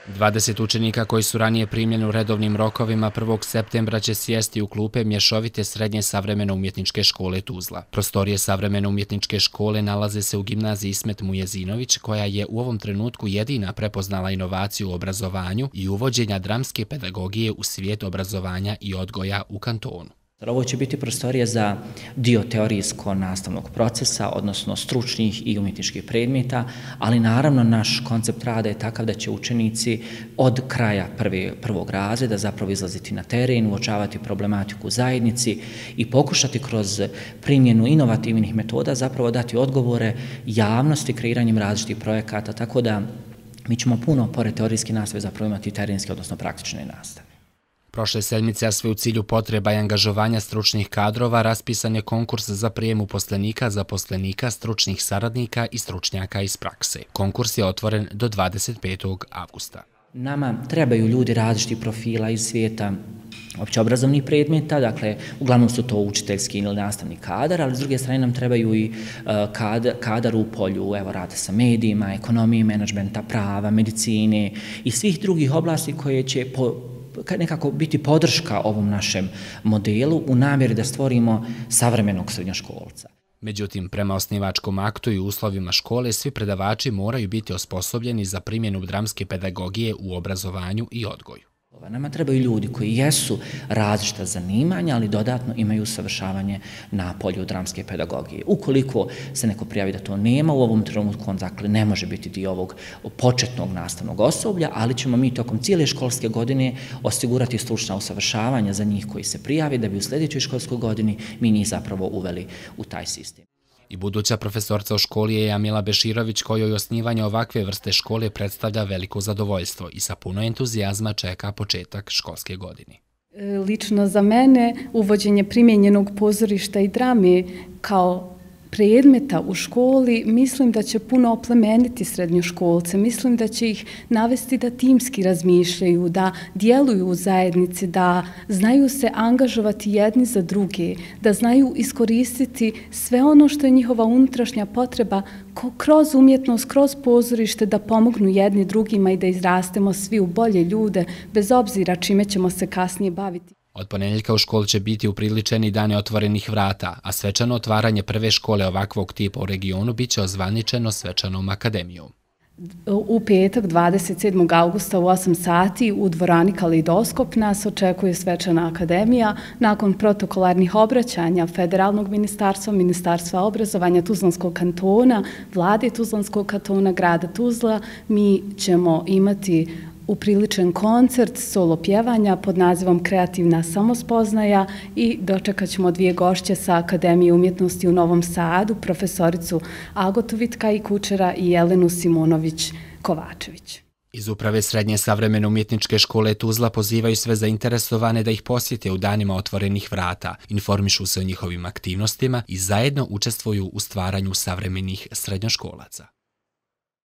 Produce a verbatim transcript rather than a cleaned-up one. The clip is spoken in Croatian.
dvadeset učenika koji su ranije primljeni u redovnim rokovima prvog septembra će sjesti u klupe Mješovite srednje savremene umjetničke škole Tuzla. Prostorije savremene umjetničke škole nalaze se u gimnaziji Ismet Mujezinović, koja je u ovom trenutku jedina prepoznala inovaciju u obrazovanju i uvođenja dramske pedagogije u svijet obrazovanja i odgoja u kantonu. Ovo će biti prostorija za dio teorijsko-nastavnog procesa, odnosno stručnih i umjetničkih predmeta, ali naravno naš koncept rada je takav da će učenici od kraja prve, prvog razreda zapravo izlaziti na teren, uočavati problematiku u zajednici i pokušati kroz primjenu inovativnih metoda zapravo dati odgovore javnosti kreiranjem različitih projekata, tako da mi ćemo puno pored teorijske nastave zapravo imati terenske, odnosno praktične nastave. Prošle sedmice, a sve u cilju potreba i angažovanja stručnih kadrova, raspisan je konkurs za prijem uposlenika, zaposlenika, stručnih saradnika i stručnjaka iz prakse. Konkurs je otvoren do dvadeset petog avgusta. Nama trebaju ljudi različitih profila iz svijeta općeobrazovnih predmeta, dakle, uglavnom su to učiteljski ili nastavni kadar, ali s druge strane nam trebaju i kadar, kadar u polju, evo, rada sa medijima, ekonomije, menadžmenta, prava, medicine i svih drugih oblasti koje će po nekako biti podrška ovom našem modelu u namjeri da stvorimo savremenog srednjoškolca. Međutim, prema osnivačkom aktu i uslovima škole, svi predavači moraju biti osposobljeni za primjenu dramske pedagogije u obrazovanju i odgoju. Nama trebaju ljudi koji jesu različita zanimanja, ali dodatno imaju usavršavanje na polju dramske pedagogije. Ukoliko se neko prijavi da to nema, u ovom trenutku on dakle ne može biti dio ovog početnog nastavnog osoblja, ali ćemo mi tokom cijele školske godine osigurati stručna usavršavanja za njih koji se prijavi, da bi u sljedećoj školskoj godini mi njih zapravo uveli u taj sistem. I buduća profesorca u školi je Jamila Beširović, kojoj osnivanje ovakve vrste škole predstavlja veliko zadovoljstvo i sa puno entuzijazma čeka početak školske godine. Lično za mene uvođenje primijenjenog pozorišta i drame kao predmeta u školi mislim da će puno oplemeniti srednjoškolce, mislim da će ih navesti da timski razmišljaju, da djeluju u zajednici, da znaju se angažovati jedni za druge, da znaju iskoristiti sve ono što je njihova unutrašnja potreba kroz umjetnost, kroz pozorište, da pomognu jedni drugima i da izrastemo svi u bolje ljude, bez obzira čime ćemo se kasnije baviti. Od ponedjeljka u školi će biti upriličeni dane otvorenih vrata, a svečano otvaranje prve škole ovakvog tipa u regionu biće ozvaničeno svečanom akademijom. U petak, dvadeset sedmog avgusta u osam sati u dvorani Kaleidoskop nas očekuje svečana akademija. Nakon protokolarnih obraćanja Federalnog ministarstva, Ministarstva obrazovanja Tuzlanskog kantona, Vlade Tuzlanskog kantona, grada Tuzla, mi ćemo imati upriličen koncert solo pjevanja pod nazivom Kreativna samospoznaja i dočekat ćemo dvije gošće sa Akademije umjetnosti u Novom Sadu, profesoricu Agotu Vitkaj Kučera i Jelenu Simonović-Kovačević. Iz Uprave Srednje savremene umjetničke škole Tuzla pozivaju sve zainteresovane da ih posjete u danima otvorenih vrata, informišu se o njihovim aktivnostima i zajedno učestvuju u stvaranju savremenih srednjoškolaca.